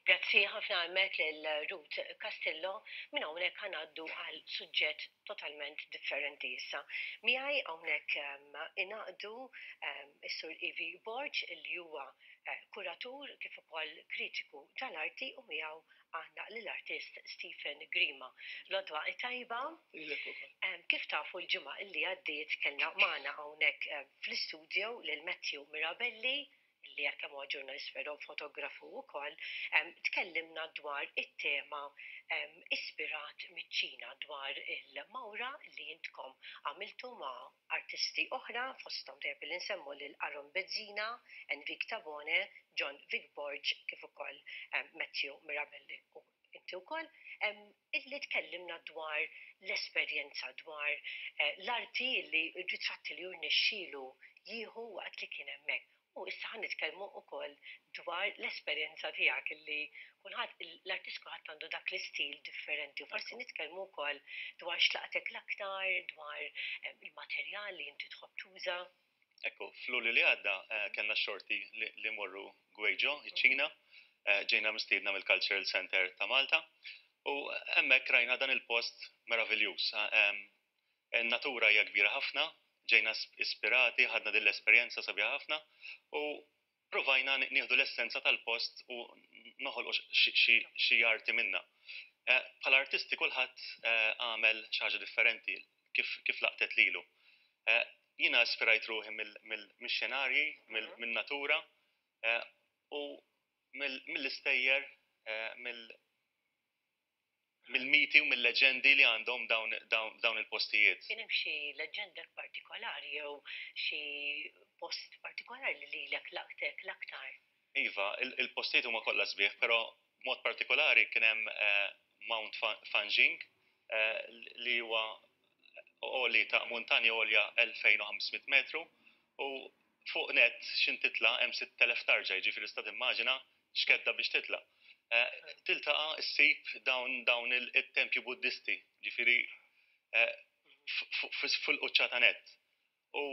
Grazzi ħafna hemmhekk lil Ruth Castillo. Minn hawnhekk ħa ngħaddu għal suġġett totalment differenti issa. Miegħi hawnhekk ingħaqdu s-Sur Ivi Borg li huwa kuratur kif ukoll kritiku tal-arti u miegħu għandna lill-artist Stephen Grima. L-għodwa t-tajba. Lilek ukoll. Kif tafu l-ġimgħa li għaddiet kellna magħna hawnhekk fl-istudio lil Matthew Mirabelli li għalkemm huwa ġurnalist però fotografu wkoll, tkellimna dwar it-tema ispirat miċ-Ċina dwar il-mawra li intkom għamiltu ma' artisti oħra fosthom tajjeb li nsemmu lil Aaron Bezzina, Enrique Tabone, John Vic Borg kif ukoll Matthew Mirabelli u inti wkoll, illi tkellimna dwar l-esperjenza, dwar l-arti li r-ritratti li hu rnexxielu jieħu waqt li kien hemmhekk. U issa ħa nitkellmu wkoll dwar l-esperjenza tiegħek illi kulħadd, l-artist kulħadd għandu dak l-istil differenti u forsi nitkellmu wkoll dwar x'laqtek l-aktar, dwar il-materjal li inti tħobb tuża. Ekku, f'Lulju li għadda kellna x-xorti li mmorru Guizhou, iċ-Ċina. Ġejna mistiedna mill-Cultural Centre ta' Malta u hemmhekk rajna dan il-post meraviljuż. In-natura hija kbira ħafna, ġejna ispirati, ħadna din l-esperjenza sabiħa ħafna u provajna nieħdu l-essenza tal-post u noħolqu xi arti minnha. Bħala artisti kulħadd għamel xi ħaġa differenti kif laqtet lilu. Jiena ispirajt ruħi mix-xenarji, min-natura u mill-istejjer, mill-miti u mill-leġendi li għandhom dawn il-postijiet. Kien hemm xi leġġenda partikolari jew xi post partikolari li lilek laqtek l-aktar? Iva, il-postijiet huma kollha sbieħ, però b'mod partikolari kien hemm Mount Fanjing li huwa għoli ta' muntanja għolja 2500 metru u fuq nett x'in titla' hemm 6000 tarġa, jiġifieri tista' timmaġina x'kedda biex titla'. Tiltaqa' ssib dawn dawn it-tempji Buddisti, jiġifieri fil-quċċata nett. U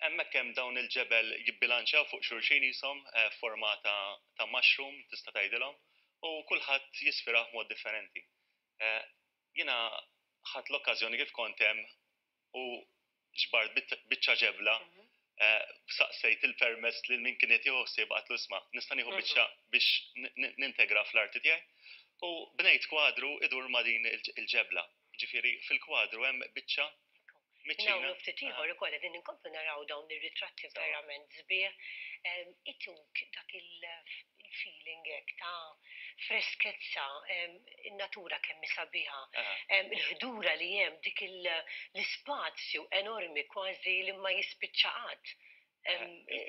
hemmhekk hemm dawn il-ġebel jibbilanċjaw fuq xulxin qishom f'forma ta' ta' mushroom tista' tgħidilhom u kulħadd jisfirah b'mod differenti. Jiena ħadt l-okkażjoni kif kont hemm u ġbart biċċa ġebla, saqsejt il-permess lil min kien qed jieħu ħsieb għadtlu isma' nista' nieħu biċċa biex nintegra fl-arti tiegħi? U bnejt kwadru idur ma' din il-ġebla. Jiġifieri fil-kwadru hemm biċċa Minn hawn u ftit ieħor ukoll qegħdin inkomplu naraw dawn ir-ritratti verament sbieħ ituk dak il-feeling hekk ta' freskezza, in-natura kemm hi sabiħa, il-ħdura li hemm, dik l-ispazju enormi kważi li ma jispiċċa qatt.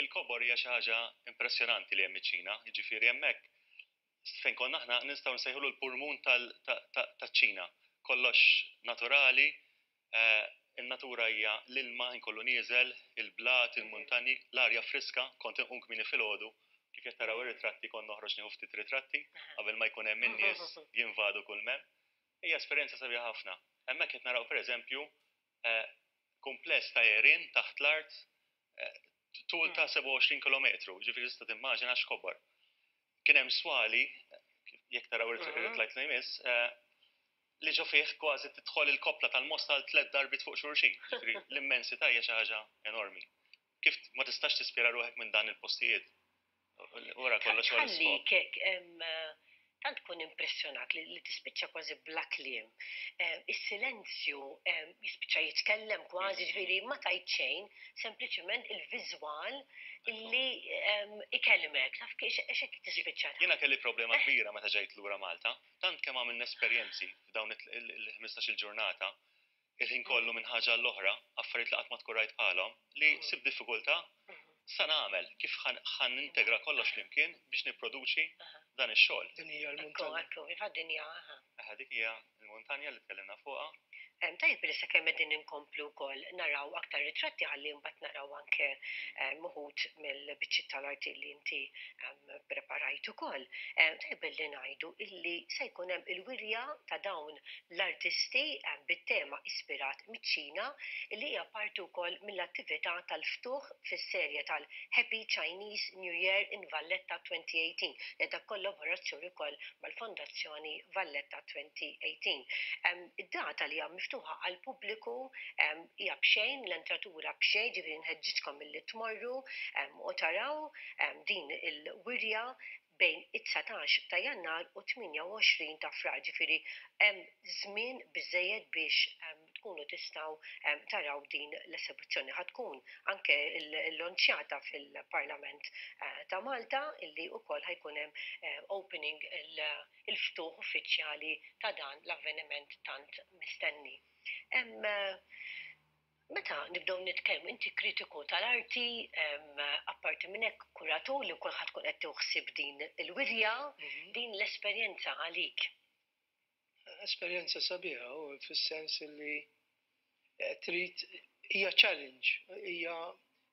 Il-kobor hija xi ħaġa impressjonanti li hemm iċ-Ċina, jiġifieri hemmhekk fejn konna aħna nistgħu nsejħulu l-purmun taċ-Ċina. Kollox naturali, in-natura hija l-ilma ħin kollu nieżel, il-blat, il-muntanji, l-arja friska, kont inqum kmieni filgħodu, kif qed taraw ir-ritratti kont noħroġ nieħu ftit ritratti qabel ma jkun hemm in-nies jinvadu kull m'hemm. Hija esperjenza sabiħa ħafna. Hemmhekk qed naraw pereżempju kumpless ta' għerien taħt l-art tul ta' 27 kilometru, jiġifieri tista' timmaġina x'kobor. Kien hemm swali, jekk taraw ir-ritlajt li jmiss, li ġo fih kważi tidħol il-koppla tal-Mosta għal tlett darbiet fuq xulxin. Jiġifieri l-immensità hija xi ħaġa enormi. Kif ma tistax tispira ruħek minn dan il-postijiet? Wara kollox huwa l-iskop. Tħallik hekk tant tkun impressjonat li tispiċċa kważi bla kliem. Is-silenzju jispiċċa jitkellem kważi, ġifieri ma tgħid xejn, sempliċement il-viżwal illi ikellmek, taf kif hekk tispiċċa. Jiena kelli problema kbira meta ġejt lura Malta, tant kemm għamilna esperjenzi f'dawn il-ħmistax-il ġurnata, il-ħin kollu minn ħaġa għall-oħra, affarijiet li qatt ma tkun rajt bħalhom, li sibt diffikultà x'sa nagħmel, kif ħa nintegra kollox flimkien biex nipproduċi dan ix-xogħol. Din hija l-muntanja. Ekku, ekku, iva din hija, aha. Aha, dik hija l-muntanja li tkellimna fuqha. Tajjeb li sakemm qegħdin inkomplu wkoll naraw aktar ritratti ħalli mbagħad naraw anke uħud mill-biċċiet tal-arti li inti preparajt ukoll. Tajjeb li ngħidu illi se jkun hemm il-wirja ta' dawn l-artisti bit-tema ispirat miċ-Ċina li hija parti wkoll mill-attività tal-ftuħ fis-serje tal-Happy Chinese New Year in Valletta 2018 li qiegħda b'kollaborazzjoni wkoll mal-Fondazzjoni Valletta 2018. Id-data li hija miftuħa għall-pubbliku hija b'xejn, l-entratura b'xejn, ġifieri nħeġġiġkom milli tmorru u taraw din il-wirja bejn it-19 ta' Jannar u 28 ta' Frar, ġifieri hemm żmien biżżejjed biex tkunu tistgħu taraw din l-esebizzjoni. Ħa tkun anke llonċjata fil-Parlament ta' Malta illi wkoll ħa jkun hemm opening il-ftuħ uffiċjali ta' dan l-avveniment tant mistenni. Meta nibdew nitkellmu, inti kritiku tal-arti, apparti minn hekk kuratur li wkoll ħa tkun qed tieħu ħsieb din il-wirja, din l-esperjenza għalik. Esperjenza sabiħa u fis-sens li trid hija challenge, hija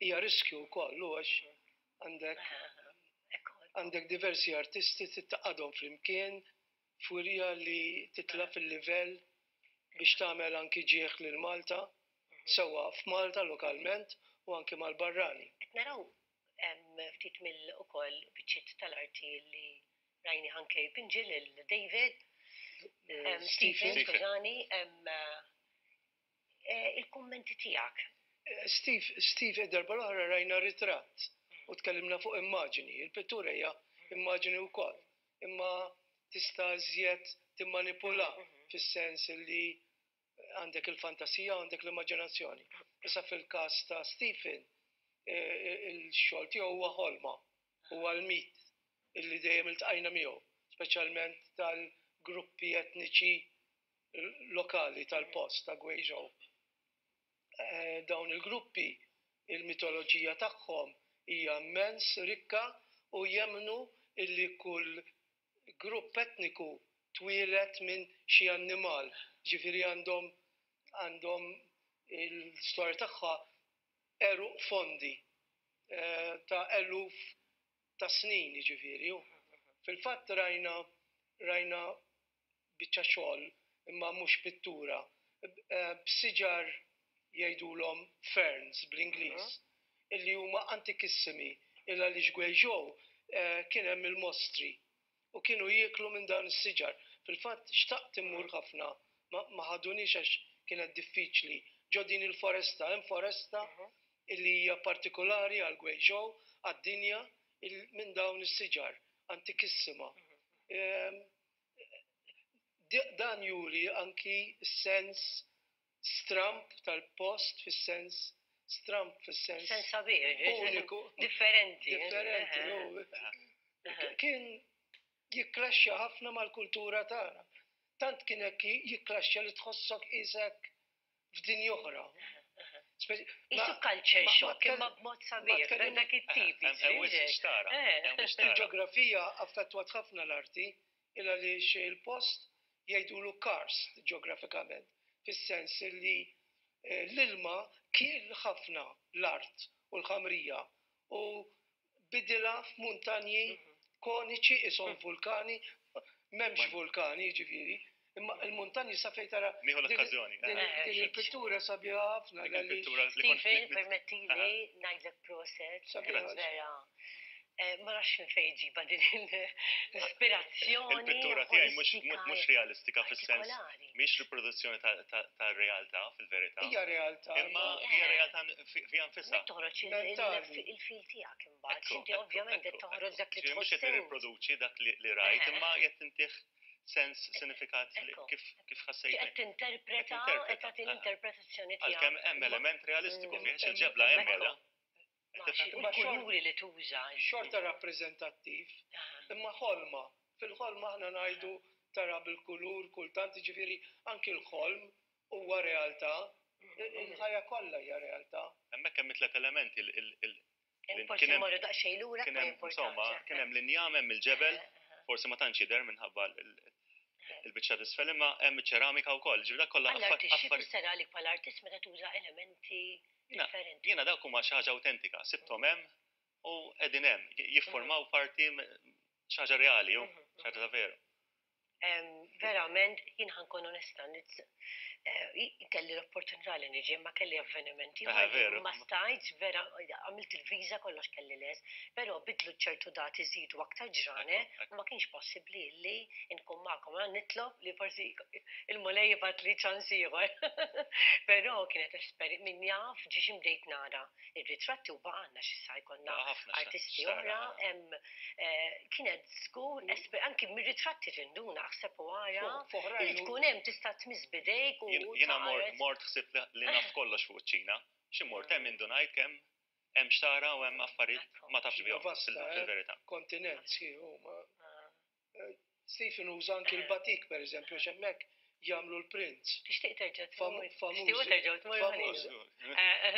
hija riskju wkoll u għax għandek għandek diversi artisti trid tgħaqqadhom flimkien f'wirja li titla' fil-livell biex tagħmel anki ġieħ lil Malta, sewwa f'Malta lokalment u anki mal-barrani. Qed naraw ftit mill ukoll biċċiet tal-arti li rajni anke jpinġi lil David, Stephen, skużani, il-kummenti tiegħek. Steve, Steve, id-darba l-oħra rajna ritratt u tkellimna fuq immaġini. Il-pittura hija immaġini wkoll, imma tista' iżjed timmanipula fis-sens li għandek il-fantasija u għandek l-immaġinazzjoni. Issa fil-każ ta' Stephen, il-xogħol tiegħu huwa ħolma, huwa l-mit illi dejjem iltqajna miegħu, speċjalment tal-gruppi etniċi lokali tal-post ta' Guizhou. Dawn il-gruppi, il-mitoloġija tagħhom hija immens rikka u jemmnu illi kull grupp etniku twieled minn xi annimal, ġifieri għandhom għandhom l-istorja tagħha għeruq fondi ta' eluf ta' snin jiġifieri. Fil-fatt rajna rajna biċċa xogħol imma mhux pittura b'siġar jgħidulhom ferns bl-Ingliż illi huma antikissimi il għaliex Guizhou kien hemm il-mostri u kienu jieklu minn dawn is-siġar. Fil-fatt xtaqt immur ħafna ma ħadunix għax kienet diffiċli ġo din il-foresta. Hemm foresta illi hija partikolari għal Guizhou, għad-dinja, minn dawn is-siġar antikissima. Dan juri anki s-sens stramb tal-post fis-sens stramb fis-sens Sens sabiħ, uniku. Differenti. Differenti. Kien jikklaxxa ħafna mal-kultura tagħna. Tant kien hekk jikklaxxa li tħossok qisek f'dinja oħra. Qisu culture shock imma b'mod sabiħ, dak it-tip. Il-ġeografija affettwat ħafna l-arti il għaliex il-post jgħidulu karst ġeografikament, fis-sens li l-ilma kiel ħafna l-art u l-ħamrija u bidilha f'muntanji koniċi qishom vulkani, m'hemmx vulkani jiġifieri, imma l-muntanji sa fejn tara. Nieħu l-okkażjoni. Din il-pittura sabiħa ħafna. Stephen, permettili ngħidlek proset, vera. Ma nafx minn fejn ġiba din l-ispirazzjoni. Il-pittura tiegħi mhux realistika fis-sens mhix riproduzzjoni tar-realtà fil-verità. Hija realtà. Imma hija realtà fiha nfisha. Toħroġ il-fil tiegħek imbagħad. Inti ovvjament qed toħroġ dak li tħoss. Mhux qed nirriproduċi dak li rajt, imma qed intih sens, sinifikat kif ħassejt. Qed tinterpreta, qed tagħti l-interpretazzjoni tiegħek. Għalkemm hemm element realistiku fih, il-ġebla hemm qiegħda. Il-kuluri li tuża. Xorta rappreżentattiv, imma ħolma. Fil-ħolma aħna ngħidu tara bil-kulur kultant, jiġifieri anki l-ħolm huwa realtà. Il-ħajja kollha hija realtà. Hemmhekk hemm it-tliet elementi Forsi mmorru daqsxejn lura, ma jimpurtax. Insomma, kien hemm l-injam, hemm il-ġebel, forsi ma tantx jidher minħabba Il-biċċa t'isfel imma hemm iċ-ċeramika wkoll, ġifieri dak kollha Għall-artist, xi tfisser għalik bħala artist meta tuża elementi differenti? Jiena dawk huma xi ħaġa awtentika, sibthom hemm u qegħdin hemm, jiffurmaw parti xi ħaġa reali, xi ħaġa ta' veru. Verament, jien ħa nkun onesta, kelli l-opportunità li niġi, ma kelli avvenimenti. Ma stajtx, vera, għamilt il-viża kollox kelli les, però bidlu ċertu dati żidu aktar ġranet, u ma kienx possibbli li nkun magħkom. Għan nitlob li forsi il-Mulej jibgħat li ċans ieħor. Però kienet esperi min jaf ġiex bdejt nara ir-ritratti u baqgħalna x'issa jkollna artisti oħra. Kienet żgur anki mir-ritratti tinduna aħseb u ara li tkun hemm tista' tmiss bidejk u Jiena mort ħsibt li naf kollox fuq iċ-Ċina. Xi mort hemm indunajt kemm hemm xtara u hemm affarijiet ma tafx bihom fil-verità. Kontinent sħiħ huma. Stephen uża anki l-batik pereżempju għax hemmhekk jagħmlu l-prints. Tixtieq terġa' tmur. Tixtiequ terġgħu tmorru ħalli.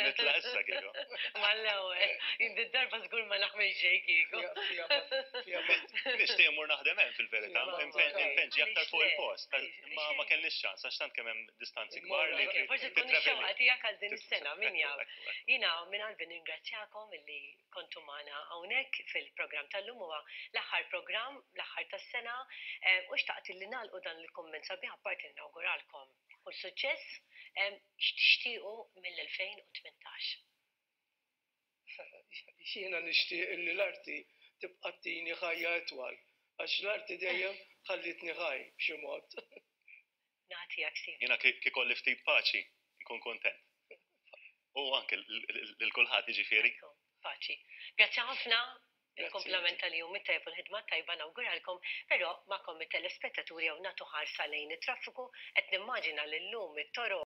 Nitla' issa kieku. Mal-ewwel. Jien darba żgur ma naħmel xejn kieku. Nixtieq immur naħdem hemm fil-verità, impenġi aktar fuq il-post. Imma ma kellniex ċans għax tant kemm hemm distanzi kbar. Forsi tkun ix-xewqa tiegħek għal din is-sena, min jaf. Jiena minn qalbi nirringrazzjakom illi kontu magħna hawnhekk fil-programm tal-lum huwa l-aħħar programm, l-aħħar tas-sena, u xtaqt li nagħlqu dan il-kumment sabiħ apparti li nawguralkom kull suċċess, x'tixtiequ mill-2018? Jiena nixtieq illi l-arti tibqa' ttini ħajja itwal, għax l-arti dejjem ħallietni ħaj b'xi mod. Nagħtijak Steve. Jiena kieku ikolli ftit paċi, nkun kuntent. U anke lil kulħadd jiġifieri. Paċi. Grazzi ħafna, il-kumplament tal-jum it-tajjeb u l-ħidma t-tajba nawguralkom, però magħkom it-telespettaturi hawn nagħtu ħarsa lejn it-traffiku, qed nimmaġina li llum it-toroq.